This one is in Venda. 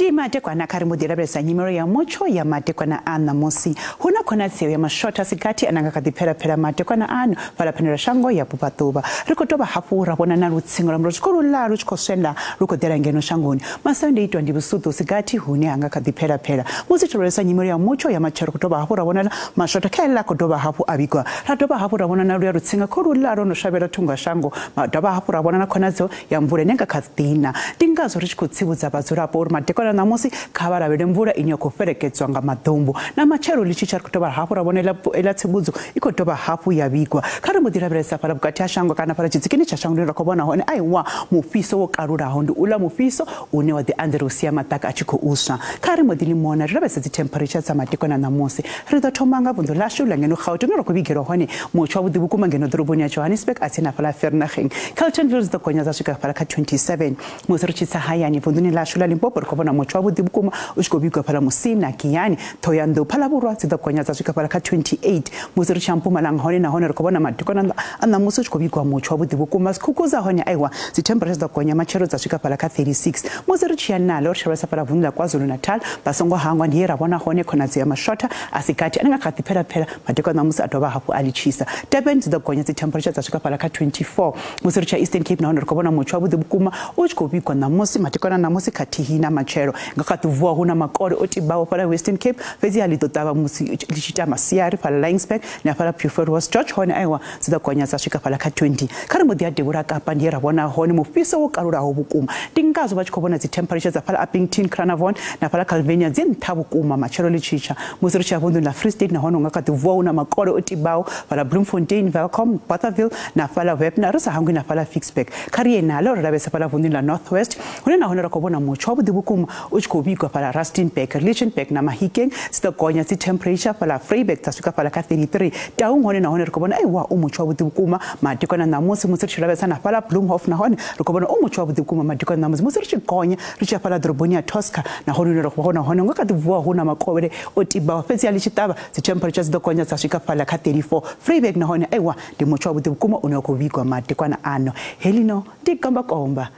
Ndi madekwana kha ri mbo ḓi lavhelesa nyimelo ya mutsho ya madekwana a ṋamusi. Hu na khonadzeo ya mashotha sigathi ane nga kha ḓi phelapela madekwana ano fhala phenela shango ya vhubvaḓuvha. Ri khou dovha hafhu ra vhona na lutsinga lwa mulilo tshi khou luḽa lu tshi khou swenda lu khou ḓela ngeno shangoni. Masiandoitwa ndi vhusuṱu sigathi hune ha nga kha ḓi phelapela. Musi tshi lavhelesa nyimelo ya mutsho ya matshelo, khou dovha hafhu ra vhona mashotha kha ḽa khou dovha hafhu a vhigwa. Ra dovha hafhu ra vhona na luya lutsinga khou luḽa lwo no shavhela thungo ya shango. Ma dovha hafhu ra vhona na khonadzeo ya mvula ine nga kha ḓi na. Ndi ngazwo ri tshi khou tsivhudza vhadzulapo uri madekwana ṋamusi kha vha lavhelele mvula ine ya khou fhelekedzwa nga maḓumbu. Na matshelo ḽi tshi tsha ri khou dovha hafhu ra vhona ela tsivhudzo i khou dovha hafhu ya vhigwa. Kha ri mbo ḓi lavhelesa fhala vhukati ha shango kana fhala tshidzikini tsha shango ra khou vhona hone aiwa mufhiso wo kalulaho, ndi uḽa mufhiso une wa ḓi anzela u sia maḓaka a tshi khou swa. Kha ri mbo ḓi limona ri lavhelese dzi temperature dza madekwana ṋamusi. Ri ḓo thoma nga vunḓu ḽashu ḽa ngeno Gauteng, ri khou vhigelwa hone mutsho wavhuḓi vhukuma ngeno ḓoroboni ya Johannesburg a tsini hafhaḽa Vereeniging. Carltonville dzi ḓo gonya dza swika fhala kha 27. Musi ri tshi tsa hayani vunḓuni ḽashu ḽa Limpopo ri khou vhona mutsho wavhuḓi vhukuma u tshi khou vhigwa fhala Musina, Giyani, Thohoyandou, Phalavhurwa dzi ḓo gonya dza swika fhala kha 28. Musi ri tshi ya Mpumalanga hone nahone ri khou vhona madekwana a ṋamusi u tshi khou vhigwa mutsho wavhuḓi vhukuma. Skukuza hone aiwa dzi temperature dzi ḓo gonya matshelo dza swika fhala kha 36. Musi ri tshi ya nalo ri tshi lavhelesa fhala vunḓu ḽa KwaZulu-Natal, vha songo hangwa ndi he ra vhona hone khonadzeo ya mashotha a si gathi ane nga kha ḓi phelapela madekwana ṋamusi a dovha hafhu a litshisa. Durban dzi ḓo gonya dzi temperature dza swika fhala kha 24. Musi ri tshi ya Eastern Cape nahone ri khou vhona mutsho wavhuḓi vhukuma u tshi khou vhigwa ṋamusi madekwana ṋamusi khathihi na matshelo. Nga kha ḓi vuwa hu na makole o tibaho fhala Western Cape, fhedzi a ḽi ḓo ṱavha musi ḽi tshi ita masiari fhala Laingsburg na fhala Beaufort West George hone aiwa dzi ḓo gonya dza swika fhala kha 20. Kha ri mbo ḓi ya devhula Kapa ndi he ra vhona hone mufhiso wo kalulaho vhukuma. Ndi ngazwo vha tshi khou vhona dzi temperature dza fhala Upington, Carnarvon na fhala Calvinia dzi nṱha vhukuma matshelo ḽi tshi tsha. Musi ri tshi ya vunḓuni ḽa Free State nahone nga kha ḓi vuwa hu na makole o tibaho fhala Bloemfontein, Welkom, Bothaville na fhala Webner, ri sa hangwi na fhala Ficksburg. Kha ri ye nalo ri lavhelesa fhala vunḓuni ḽa North West hune nahone ra khou vhona mutsho wavhuḓi vhukuma u tshi khou vhigwa fhala Rustenburg, Lichtenburg na Mahikeng dzi ḓo gonya dzi temperature fhala Vryburg dza swika fhala kha 33. Taung hone nahone ri khou vhona aiwa u mutsho wavhuḓi vhukuma madekwana ṋamusi. Musi ri tshi lavhelesa na fhala Bloemhof nahone ri khou vhona u mutsho wavhuḓi vhukuma madekwana ṋamusi. Musi ri tshi gonya ri tshi ya fhala ḓoroboni ya Tosca nahone hune ra khou vhona hone nga kha ḓi vuwa hu na makovhele o tibaho, fhedzi a ḽi tshi ṱavha dzi temperature dzi ḓo gonya dza swika fhala kha 34. Vryburg nahone aiwa ndi mutsho wavhuḓi vhukuma une wa khou vhigwa madekwana ano. Helino ndi kombakomba.